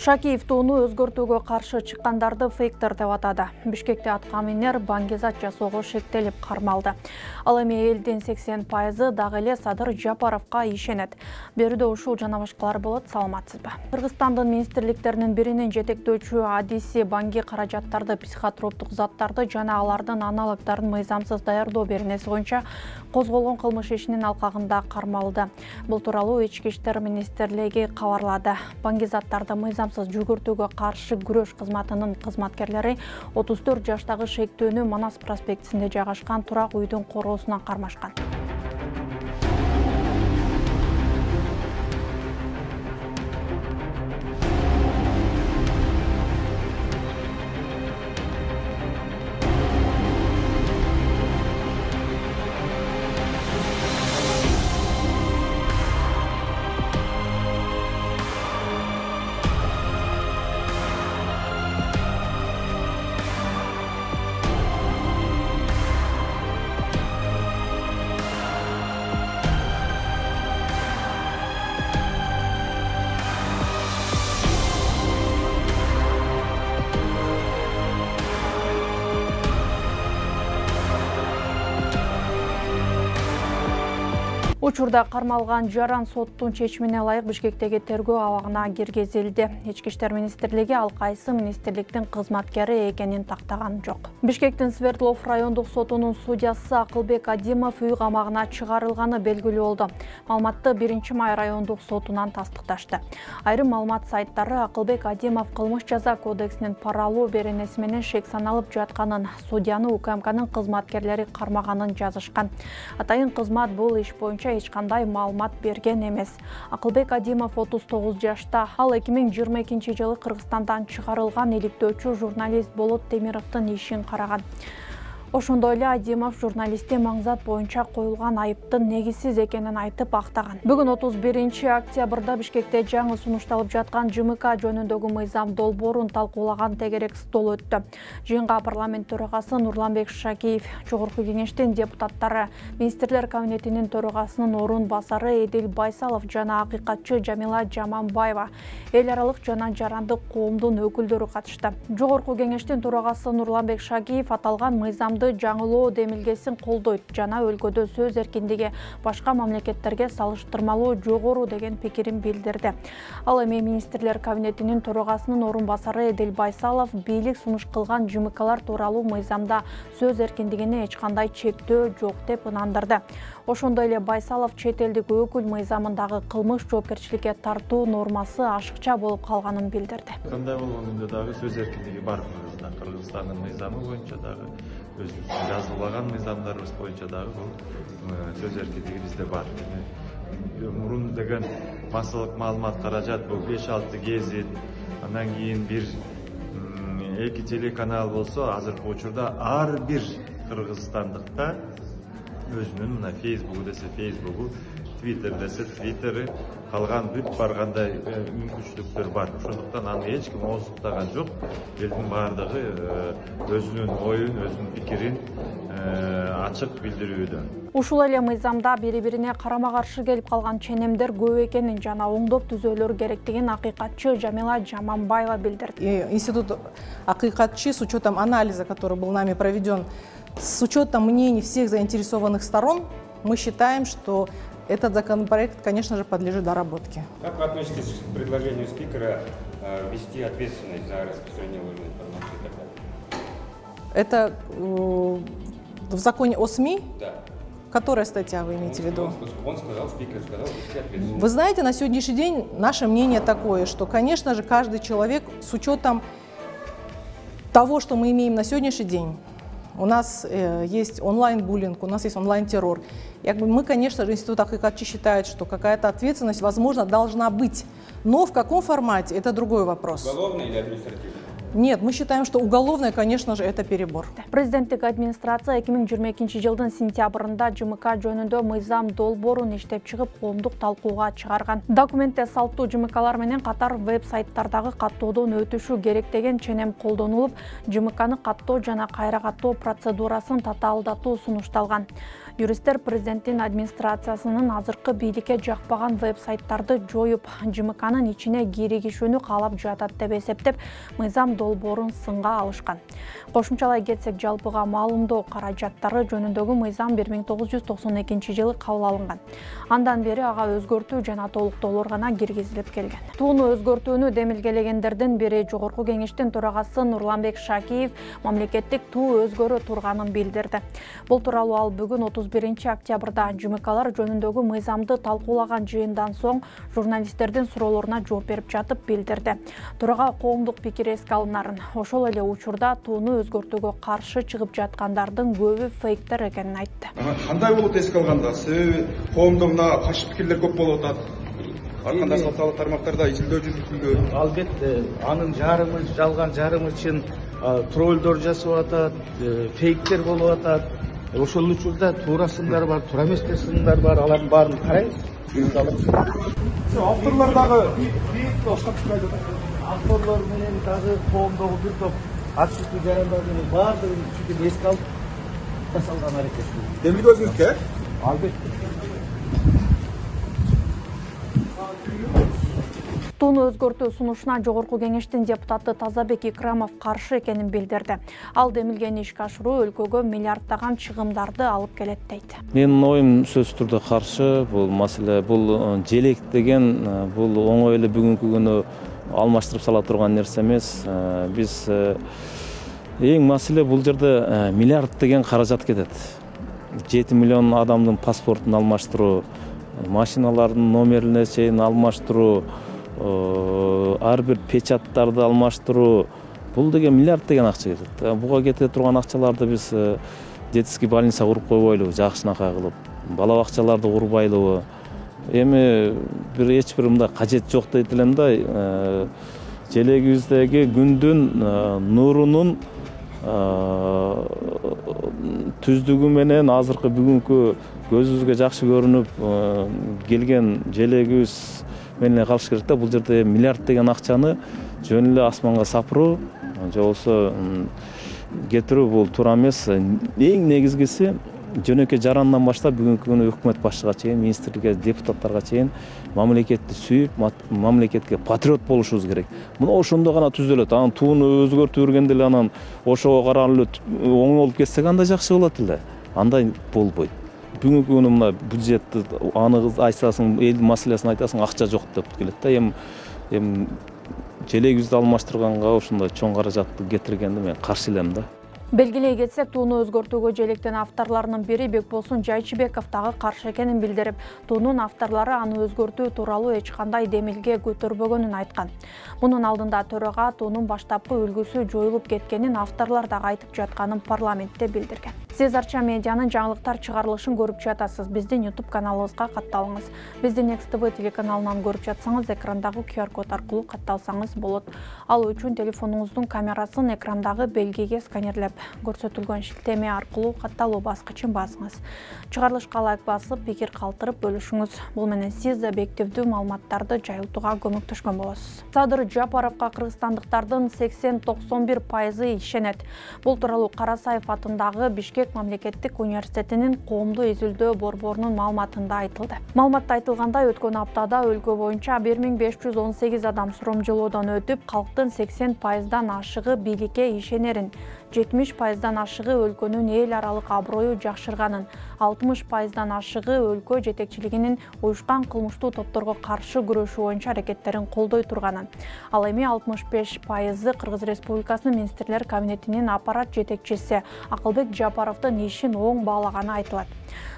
Шакиев тууну өзгөртүүгө каршы чыккандарды фейктер деп атады. Бишкекте аткаминер баңгизат жасоого шектелип кармалды. Ал эми элдин 80% дагы эле Садыр Жапаровго ишенет. Берүүдө ушул жана башкалар болот. Саламатсызбы? Кыргызстандын министрликтеринин биринин жетектөөчү адиси банги каражаттарды, психотроптук заттарды жана алардын аналогдарын мыйзамсыз даярдоо беренеси боюнча козголгон кылмыш ишинин алкагында кармалды. Бул тууралуу Ички иштер министрлиги кабарлады. Баңгизаттарды мыйзамсыз жүгүртүүгө каршы күрөш кызматынын кызматкерлери 34 жаштагы шектөөнү Манас проспектисинде жайгашкан турак үйдүн короосуна кармашкан. Учурда кармалган жаран соттун чечимине ылайык Бишкектеги тергөө абагына киргизилди. Ички иштер министрлиги ал кайсы министрликтин кызматкери экенин тактаган жок. Бишкектин Свердлов райондук сотунун судьясы Акылбек Адимов үй камагына чыгарылганы белгилүү болду. Маалыматты 1-май райондук сотунан тастыкташты. Айрым маалымат сайттары Акылбек Адимов кылмыш жаза кодексинин пара алуу беренеси менен шек саналып жатканын, судьяны УКМКнын кызматкерлери кармаганын жазышкан. Атайын кызмат бул иш боюнча эч кандай маалымат берген эмес. Акылбек Адимов 39 жашта. Ал 2022-жылы Кыргызстандан чыгарылган иликтөөчү журналист Болот Темировдун ишин караган. Ошондой эле Адимов журналистти маңзат боюнча коюлган айыптын негизсиз экенин айтып актаган. Бүгүн 31-октябрда Бишкекте жаңы сунушталып жаткан ЖМК жөнүндөгү мыйзам долбоорун талкуулаган тегерек стол өттү. Жыйынга парламент төрагасы Нурланбек Шакиев, Жогорку кеңештин депутаттары, министрлер кабинетинин төрагасынын орун басары Эдил Байсалов жана акыйкатчы Жамила Жаманбаева, эл аралык жана жарандык коомдун өкүлдөрү катышты. Жогорку кеңештин төрагасы Нурланбек Шакиев аталган мыйзам жаңылоо демилгесин колдойт жана өлкөдө сөз эркиндиги башка мамлекеттерге салыштырмалуу жогору деген пикирин билдирди. Ал эми министрлер кабинетинин төрагасынын орун басары Эдил Байсалов бийлик сунуш кылган ЖМКлар тууралуу мыйзамда сөз эркиндигине эч кандай чектөө жок деп ынандырды. Ошондой эле Байсалов чет элдик өкүл мыйзамындагы кылмыш жоопкерчиликке тартуу нормасы ашыкча болуп калганын билдирди. Кандай болгондо дагы сөз эркиндиги бар Кыргызстандын мыйзамы боюнча дагы өзүбүздүн жазуулаган мыйзамдарыбыз боюнча дагы бул сөз эркиндиги бизде бар. Мурун деген массалык маалымат каражат бул 5-6 гезит, андан кийин бир 2 телеканал болсо, азыркы учурда ар бир кыргызстандыкта өзүнүн мына Фейсбугу десе Фейсбугу, Твиттер десе Твиттери, калган бүт баргандай мүмкүнчүлүктөр бар. Ошондуктан аны эч ким ооздуктаган жок. Элдин баардыгы өзүнүн оюн, өзүнүн пикирин ачык билдирүүдө. Ушул эле мыйзамда бири-бирине карама-каршы келип калган ченемдер көп экенин жана оңдоп түзөөлөр керектигин акыйкатчы Жамила Жаманбаева билдирди. Институт акыйкатчы с учетом анализа, который был нами проведен, с учетом мнений всех заинтересованных сторон, мы считаем, что этот законопроект, конечно же, подлежит доработке. Как вы относитесь к предложению спикера ввести ответственность за распространение ложной информации и так далее? Это в законе о СМИ? Да. Которая статья вы имеете в виду? Спикер сказал, ввести ответственность. Вы знаете, на сегодняшний день наше мнение такое, что, конечно же, каждый человек с учетом того, что мы имеем на сегодняшний день, у нас есть онлайн-буллинг, у нас есть онлайн-террор. Мы, конечно же, Институт акыйкатчы считает, что какая-то ответственность, возможно, должна быть. Но в каком формате, это другой вопрос. Уголовный или административный? Нет, мы считаем, что уголовное, конечно же, это перебор. Президенттик администрация 2022 жылдын сентябрында ЖМК жөнүндө мыйзам долбоорун иштеп чыгып, коомдук талкууга чыгарган. Документте салттуу ЖМКлар менен катар веб-сайттардагы каттоодон өтүшү керек деген ченем колдонулуп, ЖМКны каттоо жана кайра каттоо процедурасын татаалдатуу сунушталган. Юристтер президенттин администрациясынын азыркы бийликке жакпаган веб-сайттарды жоюп, ЖМКнын ичине киригишүүнү каалап жатат деп эсептеп, мыйзам долбоорун сынга алышкан. Кошумчалай кетсек, жалпыга маалымдоо каражаттары жөнүндөгү мыйзам 1992 жылы кабыл алынган. Андан бери ага өзгөртүү жана толуктоолор гана киргизилип келген. Тууну өзгөртүүнү демилгелегендердин бири Жогорку Кеңештин төрагасы Нурланбек Шакиев мамлекеттик туу өзгөрө турганын билдирди. Бул тууралуу ал бүгүн 31 октябрда ЖМКлар жөнүндөгү мыйзамды талкуулаган жыйындан соң журналисттердин суроолоруна жооп берип жатып билдирди. Турага коомдук пикир эске алынарын, ошол эле учурда тууну өзгөртүүгө каршы чыгып жаткандардын көбү фейктер экенин айтты. Кандай болот эске алганда, себеби коомдо мына каршы пикирлер көп болуп атат. Ар кандай социалдык тармактарда изилдөө жүргүзүлдү. Албетте, анын жарымы жалган, жарымы чын троллдор жасап атат, фейктер болуп атат. Ошол учурда туура сындар бар, туура эмес сындар бар, алардын баарын карайбыз. Авторлор дагы авторлор менен дагы коомдогу бир топ акчылык жарандар менен баардыгын чүкүп эске алып жасалган аракет. демилге өзүңүзгө? Албетте. Тууну өзгөртүү сунушуна Жогорку Кеңештин депутаты Тазабек Икрамов каршы экенин билдирди. Ал демилгени ишке ашыруу өлкөгө миллиарддаган чыгымдарды алып келет дейт. Менин оюм сөзсүз турда каршы. Бул маселе, бул желек деген бул оңой эле бүгүнкү күнү алмаштырып сала турган нерсе эмес. Биз эң маселе бул жерде миллиард деген каражат кетет. 7 миллион адамдын паспортун алмаштыруу, машиналардын номерине чейин алмаштыруу, ар бир печаттарды алмаштыруу, бул деген миллиард деген акча кетет. Буга кете турган акчаларды биз детский больница куруп койбойлубу, жакшынакай кылып, бала бакчаларды курбайлыбы? Эми эч бир мындай кажет жок дейт элем да. Желегибиздеги күндүн нурунун түздүгү менен азыркы бүгүнкү көзүбүзгө жакшы көрүнүп келген желегибиз менен калыш керек да. Бул жерде миллиард деген акчаны жөн эле асманга сапыруу же болбосо кетирүү бул туура эмес. Эң негизгиси жөнөкөй жарандан баштап бүгүнкү күнү өкмөт башчыга чейин, министрликке, депутаттарга чейин мамлекетти сүйүп, мамлекетке патриот болушубуз керек. Мына ошондо гана түзөлөт. Анан тууну өзгөртүп бергенде эле анан ошого карап эле оң болуп кетсек андай жакшы болот эле. Андай болбойт. Бүгүнкү күнү мына бюджетти аны айтасың, элдин маселесин айтасың, акча жок деп келет да. Эми желегибизди алмаштырганга ошондой чоң каражатты кетиргенди мен каршы элем да. Белгилей кетсек, тууну өзгөртүүгө желектен авторлорунун бири Бекболсун Жайчыбеков дагы каршы экенин билдирип, туунун авторлору аны өзгөртүү тууралуу эч кандай демилге көтөрбөгөнүн айткан. Мунун алдында төрага туунун баштапкы үлгүсү жоюлуп кеткенин авторлор дагы айтып жатканын парламентте билдирген. Сиз Арча медианын жаңылыктар чыгарылышын көрүп жатасыз. Биздин YouTube каналыбызга катталыңыз. Биздин XTV телеканалынан көрүп жатсаңыз, экрандагы QR код аркылуу катталсаңыз болот. Ал үчүн телефонуңуздун камерасын экрандагы белгиге сканерлеп көрсөтүлгөн шилтеме аркылуу катталуу баскычын басыңыз. Чыгарылышка лайк басып, пикир калтырып бөлүшүңүз. Бул менен сиз объективдүү маалыматтарды жайылтууга көмөктөшкөн болосуз. Садыр Жапаровго кыргызстандыктардын 80-91% ишенет. Бул тууралуу Карасаев атындагы Бишкек мамлекеттик университетинин коомдуу изилдөө борборунун маалыматында айтылды. Маалыматта айтылгандай, өткөн аптада өлкө боюнча 1518 адам суромжылоодон өтүп, калктын 80%дан ашыгы бийликке ишенерин, 70%дан ашыгы өлкөнүн эл аралык аброю жакшырганын, 60%дан ашыгы өлкө жетекчилигинин уюшкан кылмыштуу топторго каршы күрөшүү боюнча аракеттерин колдой турганын. Ал эми 65% Кыргыз Республикасынын Министрлер кабинетинин аппарат жетекчиси Акылбек Жапаровдун ишин оң баалаганы айтылат.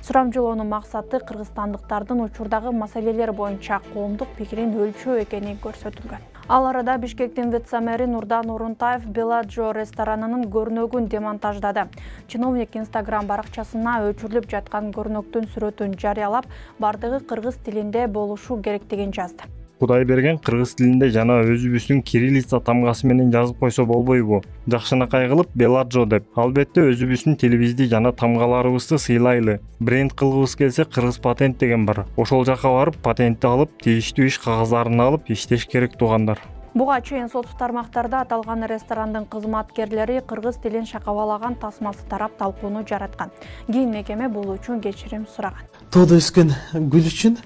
Сурамжылоонун максаты кыргызстандыктардын учурдагы маселелер боюнча коомдук пикирин өлчөө экени көрсөтүлгөн. Ал арада Бишкектин вице-мэри Нурдан Орунтаев Беладжо ресторанынын көрнөгүн демонтаждады. Чиновник Instagram баракчасына өчүрүлүп жаткан көрнөктүн сүрөтүн жарыялап, бардыгы кыргыз тилинде болушу керектигин жазды. Кудайберген кыргыз тилинде жана өзүбүздүн кириллица тамгасы менен жазып койсо болбойбу? Жакшынакай кылып Беладжо деп. Албетте өзүбүздүн тилибизди жана тамгаларыбызды сыйлайлы. Бренд кылгыбыз келсе кыргыз патент деген бар. Ошол жака барып патентти алып, тийиштүү иш кагаздарын алып иштеш керек туугандар. Буга чейин соттук тармактарда аталган ресторандын кызматкерлери кыргыз тилин шакабалаган тасмасы тарап талкууну жараткан. Кийин мекеме бул үчүн кечирим сураган. Тоодо өскөн гүл үчүн,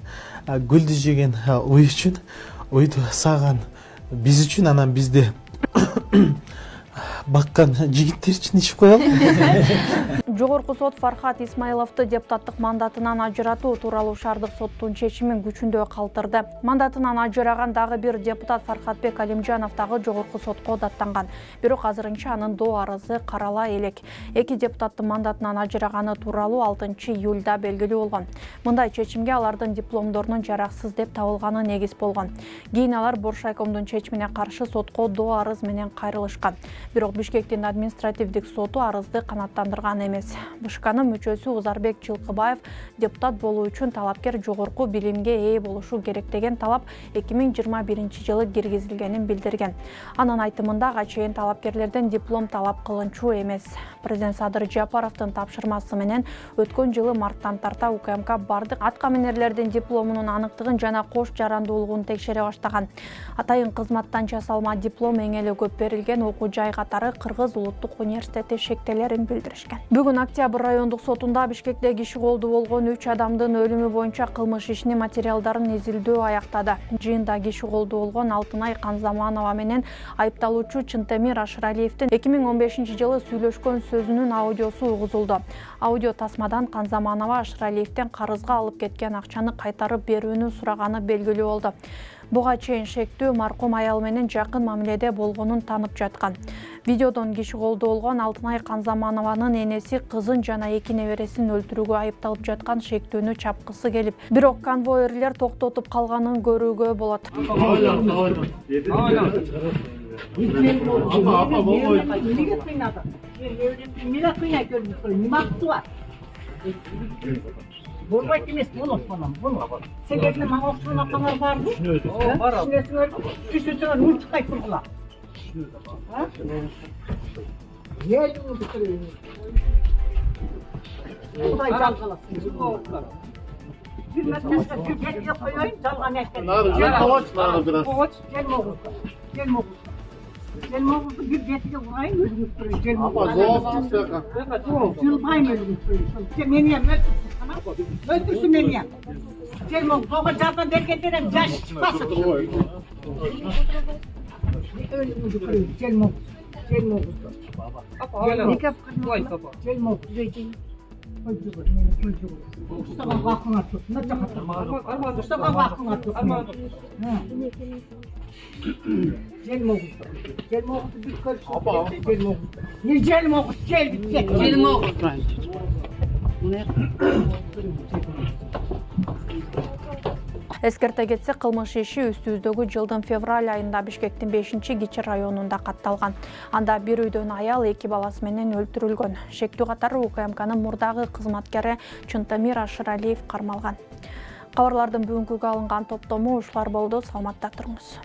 гүлдү жеген уй үчүн, уйду саган биз үчүн, анан бизди баккан жигиттер үчүн ичип коелу. Жогорку сот Фархат Исмаиловду депутаттык мандатынан ажыратуу тууралуу шаардык соттун чечимин күчүндө калтырды. Мандатынан ажыраган дагы бир депутат Фархатбек Алимжанов дагы жогорку сотко даттанган. Бирок азырынча анын доо арызы карала элек. Эки депутаттын мандатынан ажыраганы тууралуу 6-июлда белгилүү болгон. Мындай чечимге алардын дипломдорунун жараксыз деп табылганы негиз болгон. Кийин алар Боршайкомдун чечимине каршы сотко доо арыз менен кайрылышкан. Бирок Бишкектин административдик соту арызды канааттандырган эмес. БШКнын мүчөсү Узарбек Жылкыбаев депутат болуу үчүн талапкер жогорку билимге ээ болушу керек деген талап 2021-жылы киргизилгенин билдирген. Анын айтымында чейин талапкерлерден диплом талап кылынчу эмес. Президент Садыр Жапаровдун тапшырмасы менен өткөн жылы марттан тарта УКМК бардык аткаминерлердин дипломунун аныктыгын жана кош жарандуулугун текшере баштаган. Атайын кызматтан жасалма диплом эң эле көп берилген окуу жай катары Кыргыз улуттук университети шектелерин билдиришкен. Бүгүн Октябрь райондук сотунда Бишкекте киши колду болгон 3 адамдын өлүмү боюнча кылмыш ишинин материалдарын изилдөө аяктады. Жыйында киши колду болгон Алтынай Канзаманова менен айыпталуучу Чынтемир Ашыралиевдин 2015-жылы сүйлөшкөн сөзүнүн аудиосу угузулду. Аудио тасмадан Канзаманова Ашыралиевден карызга алып кеткен акчаны кайтарып берүүнү сураганы белгилүү болду. Буга чейин шектүү маркум аял менен жакын мамиледе болгонун танып жаткан. Видеодон киши колду болгон Алтынай Канзаманованын энеси кызын жана 2 небересин өлтүрүүгө айыпталып жаткан шектүүнү чапкысы келип, бирок конвойерлер токтотуп калганын көрүүгө болот. Болбойт эмес, болот балам, болот. Себебин мага окшогон акалар барбы? Түшүнөсүңөр, түшүнсөңөр мультикай тургула. Кудай жалгаласын. Bir metresi Türkiye'ye koyayım, dalga nektar. Gelmoğuz'u bir getire vurayım, ölümüz duruyor. Gelmoğuz'u. Zılbayım ölümüz duruyor. Meniyem, öldürsün meniyem. Gelmoğuz, oğa cardan derken yaş çıkmasın. Ölümüz duruyor, Gelmoğuz. Gelmoğuz'u. Gelmoğuz, zeytin. Ustagan vakına tut, ne çakatır? Ustagan vakına tut. Gelmoğuz'u. Gelmoğuz'u bir karıştırdık. Gelmoğuz. Ne Gelmoğuz? Geldik. Gelmoğuz. Эскерте кетсек, кылмыш иши үстүбүздөгү жылдын февраль айында Бишкектин 5-Кичи районунда катталган. Анда бир үйдөн аял 2 баласы менен өлтүрүлгөн. Шектүү катары УКМКнын мурдагы кызматкери Чынтемир Ашыралиев кармалган. Кабарлардын бүгүнкүгө алынган топтому ушулар болду. Саламатта туруңуз.